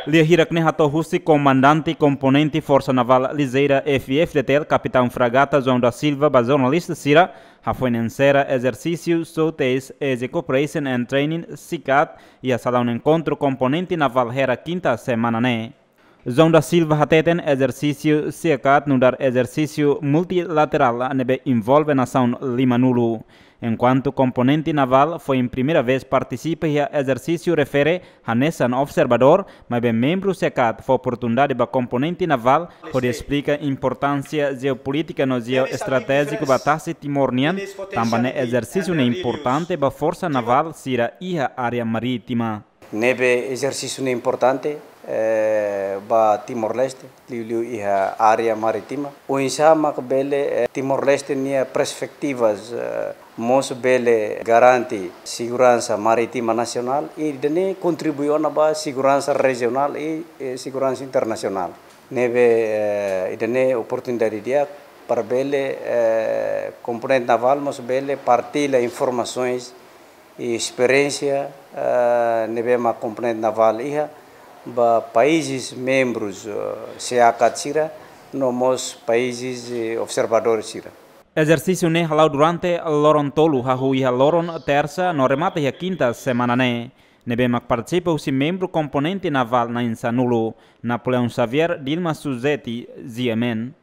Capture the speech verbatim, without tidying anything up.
Lia hirak ne'e hato'o husi Komandante Komponente Forsa Navál Lijeira F F D T L, Kapitaun Fragata João da Silva, ba jornalista sira, hafoin ensera ezersísiu SEACAT, Easy Cooperation and Training, SEACAT, iha salaun enkontru komponente navál Hera, kinta semana ne'e. João da Silva hateten ezersísiu SEACAT nu'udar ezersísiu multilaterál ne'ebé envolve nasaun limanulu. Enkuantu komponente navál foin primeira vez partisipa iha ezersísiu refere hanesan observadór, maibé membru SEACAT fó oportunidade ba komponente navál hodi esplika importánsia jeopolítika no jeoestratéjiku ba tasi Timor nian, tanba ne'e ezersísiu ne'e importante ba forsa navál sira iha área marítima. Ne'ebé ezersísiu ne'e importante, eh, ba Timor-Leste, liuliu iha área marítima. Oinsá mak bele, eh, Timor-Leste nia perspetivas, eh, mós bele garante seguransa marítima nasionál, i ida-ne'e kontribui ona ba seguransa rejionál i, eh, seguransa internasionál. Ne'ebé, eh, ida-ne'e oportunidade di'ak para bele, eh, komponente navál mós bele partilla informasoens i esperiénsia, eh, ne'ebé mak komponente navál iha ba países membrus, eh, SEACAT sira, no mós países, eh, observadór sira. Ezersísiu ne'e hala'o durante loron tolu, hahú iha loron tersa no remata iha kinta semana ne'e. Ne'ebé mak partisipa husi membru komponente navál na'in sanulu. Napoleão Xavier, Dilma Suzeti, G M N.